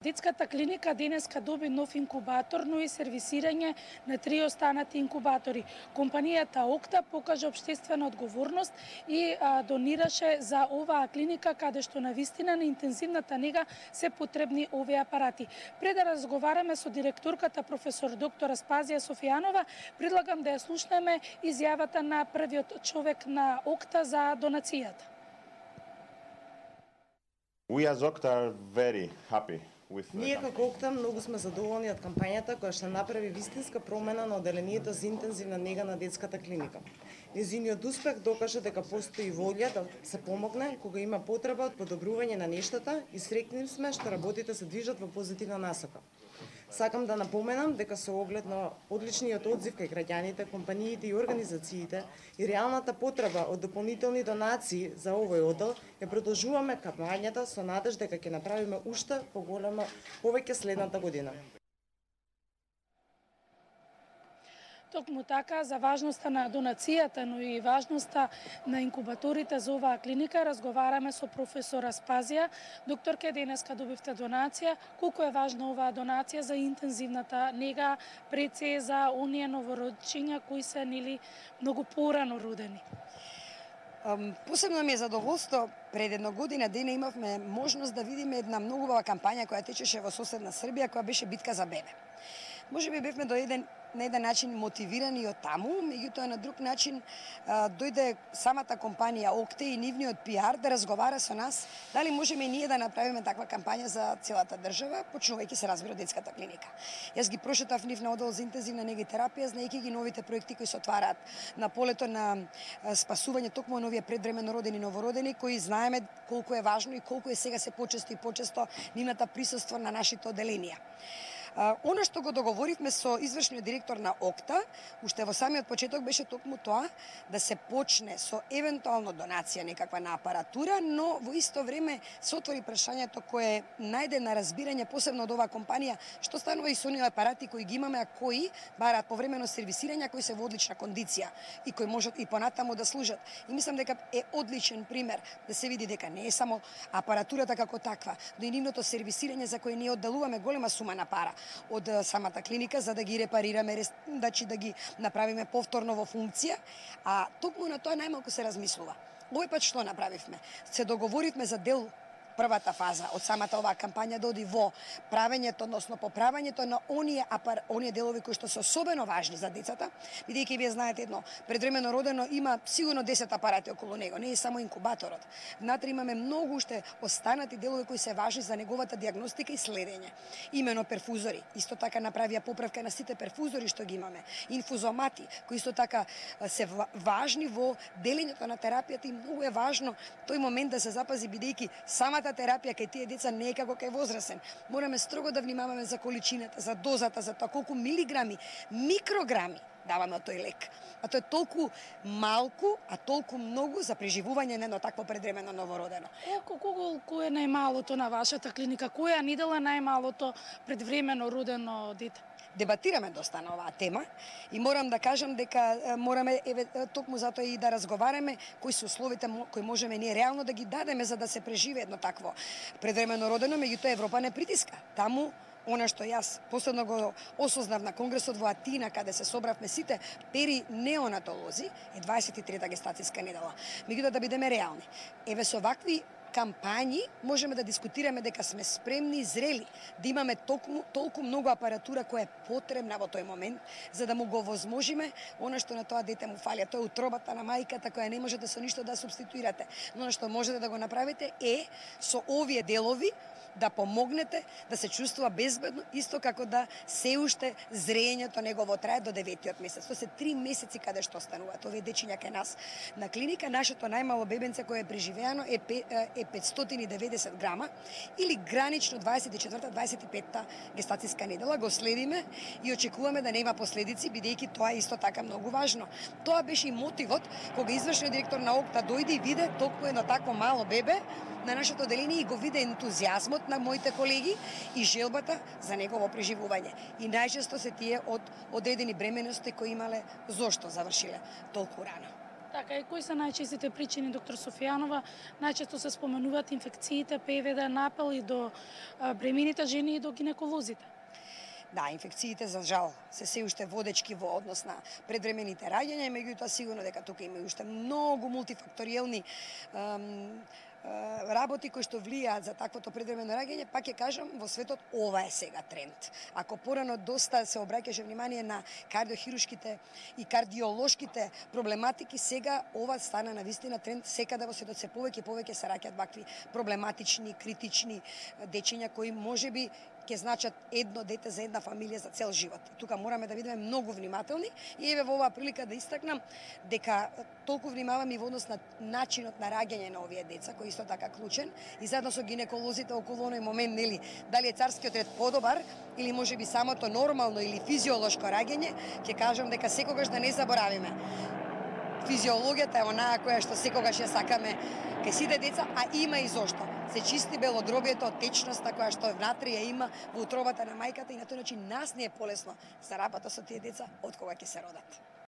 Детската клиника денеска доби нов инкубатор, но и сервисирање на 3 останати инкубатори. Компанијата Окта покажа општествена одговорност и донираше за оваа клиника каде што навистина на интензивната нега се потребни овие апарати. Пред да разговараме со директорката професор доктор Аспазија Софијанова, предлагам да ја слушнеме изјавата на првиот човек на Окта за донацијата. We as Okta are very happy. Ние како Окта многу сме задоволни од кампањата која што направи вистинска промена на оделението за интензивна нега на детската клиника. Нејзиниот успех докажа дека постои волја да се помогне кога има потреба од подобрување на нештата и среќни сме што работите се движат во позитивна насока. Сакам да напоменам дека со оглед на одличниот одзив кај граѓаните, компаниите и организациите и реалната потреба од дополнителни донации за овој одел, ја продолжуваме кампањата со надеж дека ќе направиме уште повеќе следната година. Токму така, за важноста на донацијата, но и важноста на инкубаторите за оваа клиника, разговараме со професор Аспазија. Докторке, денеска добивте донација. Колку е важна оваа донација за интензивната нега, пред се за оние новородчиња кои се многу порано родени? Посебно ми е задоволство, пред една година дена имавме можност да видиме една многу убава кампања која течеше во соседна Србија, која беше битка за бебе. Може би бевме на еден начин мотивирани од таму, меѓутоа на друг начин дојде самата компанија Окта и нивниот пиар да разговара со нас дали можеме и ние да направиме таква кампања за целата држава, почнувајќи се разбира од детската клиника. Јас ги прошетав нив на одел за интензивна нега и терапија, знаејќи ги новите проекти кои се отвараат на полето на спасување токму на овие предвремено родени новородени, кои знаеме колку е важно и колку е сега се почесто и почесто нивната присуство на нашите оделенија. Оно што го договоривме со извршниот директор на Окта, уште во самиот почеток беше токму тоа да се почне со евентуално донација некаква на апаратура, но во исто време се отвори прашањето кое најде на разбирање посебно од оваа компанија, што станува и со оние апарати кои ги имаме, а кои бараат повремено сервисирање, кои се во одлична кондиција и кои можат и понатаму да служат. И мислам дека е одличен пример да се види дека не е само апаратурата како таква, но и нивното сервисирање за кое ние одделуваме голема сума на пара од самата клиника за да ги репарираме, да ги направиме повторно во функција, а токму на тоа најмалку се размислува. Овој пат што направивме? Се договоривме за дел првата фаза од самата оваа кампања да оди во правењето, односно поправањето на оние делови кои што се особено важни за децата, бидејќи вие знаете едно, предвремено родено има сигурно 10 апарати околу него, не е само инкубаторот. Внатре имаме многу уште останати делови кои се важни за неговата дијагностика и следење. Имено перфузори, исто така направија поправка на сите перфузори што ги имаме, инфузомати, кои исто така се важни во делењето на терапијата и многу е важно тој момент да се запази бидејќи самата терапија кај тие деца не е како кај возрасен. Мораме строго да внимаваме за количината, за дозата, за тоа колку милиграми, микрограми даваме од тој лек. А тоа е толку малку, а толку многу за преживување на едно такво предвремено новородено. Колку е најмалото на вашата клиника? Која недела најмалото предвремено родено дете? Дебатираме доста на оваа тема и морам да кажам дека мораме токму затоа и да разговараме кои се условите кои можеме ние реално да ги дадеме за да се преживее едно такво предвремено родено, меѓутоа Европа не притиска. Таму она што јас последно го осознав на конгресот во Атина, каде се собравме сите неонатолози, е 23-та гестацијска недела. Меѓутоа да бидеме реални. Еве со вакви кампањи можеме да дискутираме дека сме спремни и зрели да имаме толку многу апаратура која е потребна во тој момент за да му го возможиме она што на тоа дете му фали. Тоа е утробата на мајката која не можете со ништо да субституирате. Но она што можете да го направите е со овие делови да помогнете да се чувствува безбедно, исто како да се уште зрењето негово трае до 9-тиот месец. Тоа се 3 месеци каде што остануваат овие дечиња кај нас. На клиника нашето најмало бебенце кое е преживеано е 590 грама или гранично 24-25 гестацијска недела. Го следиме и очекуваме да нема последици, бидејќи тоа е исто така многу важно. Тоа беше и мотивот кога извршниот директор на Окта дојде и виде толку едно такво мало бебе на нашето оделение и го виде ентузијазмот на моите колеги и желбата за негово преживување. И најчесто се тие од одредени бременности кои имале зошто завршиле толку рано. Така, и кои се најчестите причини, доктор Софијанова? Најчесто се споменуваат инфекциите, ПВД, напел и до бремените жени и до гинеколозите. Да, инфекциите за жал се уште водечки во однос на предвремените раѓања, меѓутоа сигурно дека тука има уште многу мултифакториелни работи кои што влијаат за таквото предвремено раѓање, пак ќе кажам, во светот ова е сега тренд. Ако порано доста се обраќаше внимание на кардиохирушките и кардиолошките проблематики, сега ова стана навистина тренд, секаде во светот се повеќе и повеќе се раѓаат вакви проблематични, критични дечиња кои можеби ќе значат едно дете за една фамилија за цел живот. Тука мораме да бидеме многу внимателни и еве во оваа прилика да истакнам дека толку внимаваме и во однос на начинот на раѓање на овие деца, кој исто така клучен, и заедно со гинеколозите околу оној момент, нели, дали е царскиот ред подобар или можеби самото нормално или физиолошко раѓање, ќе кажам дека секогаш да не заборавиме. Физиологијата е онаа која што секогаш ја сакаме кај сите деца, а има и зошто. Се чисти белодробието од течноста која што внатре ја има во утробата на мајката и на тој начин нас не е полесно за работа со тие деца од кога ќе се родат.